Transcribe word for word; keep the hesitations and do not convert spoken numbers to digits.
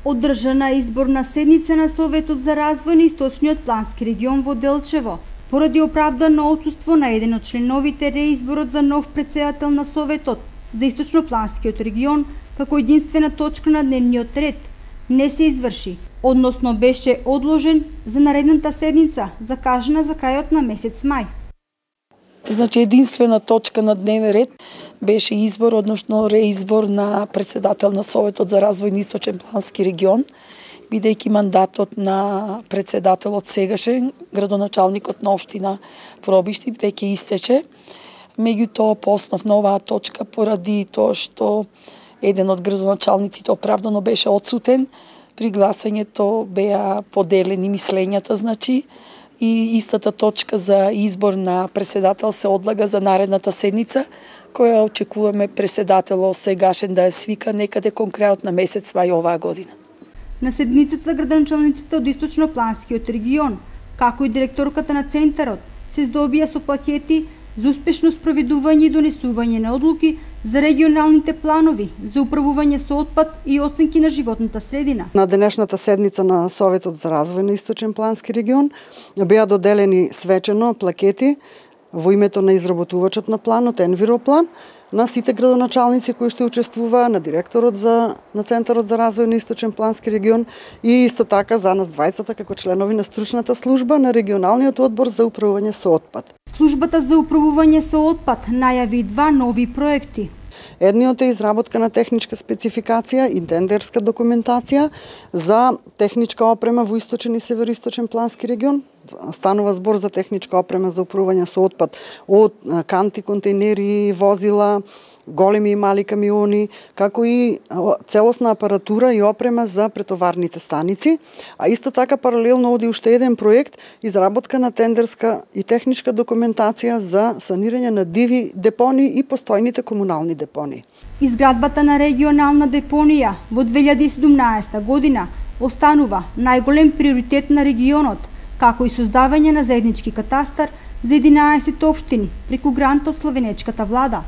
Одржана изборна седница на Советот за развој на Источниот плански регион во Делчево. Поради оправдано отсуство на еден од членовите, реизборот за нов претседател на Советот за Источнопланскиот регион како единствена точка на дневниот ред не се изврши, односно беше одложен за наредната седница, закажана за крајот на месец мај. Значи единствена точка на дневен ред беше избор, односно реизбор на председател на Советот за развој на Источен плански регион, бидејќи мандатот на председателот сегашен, градоначалникот на општина Пробишти, веќе истече. Меѓутоа по основ на оваа точка, поради тоа што еден од градоначалниците оправдано беше отсутен, при гласањето беа поделени мислењата, значи, и истата точка за избор на председател се одлага за наредната седница, која очекуваме председателот сегашен да ја свика некаде кон крајот на месец мај оваа година. На седницата градоначалниците од Источнопланскиот регион, како и директорката на центарот, се здобија со плакети за успешно спроведување и донесување на одлуки за регионалните планови за управување со отпад и оценки на животната средина. На денешната седница на Советот за развој на Источен плански регион беа доделени свечено плакети во името на изработувачот на планот, Енвироплан, на сите градоначалници кои што учествуваа, на директорот за, на Центарот за развој на Источен плански регион и исто така за нас двајцата како членови на стручната служба на регионалниот одбор за управување со отпад. Службата за управување со отпад најави два нови проекти. Едниот е изработка на техничка спецификација и тендерска документација за техничка опрема во Источен и Североисточен плански регион. Станува збор за техничка опрема за управување со отпад од канти, контейнери, возила, големи и мали камиони, како и целосна апаратура и опрема за претоварните станици, а исто така паралелно оди уште еден проект изработка на тендерска и техничка документација за санирање на диви депони и постојните комунални депони. Изградбата на регионална депонија во две илјади и седумнаесета година останува најголем приоритет на регионот, како и создавање на заеднички катастар за единаесет општини преку грант од словенечката влада.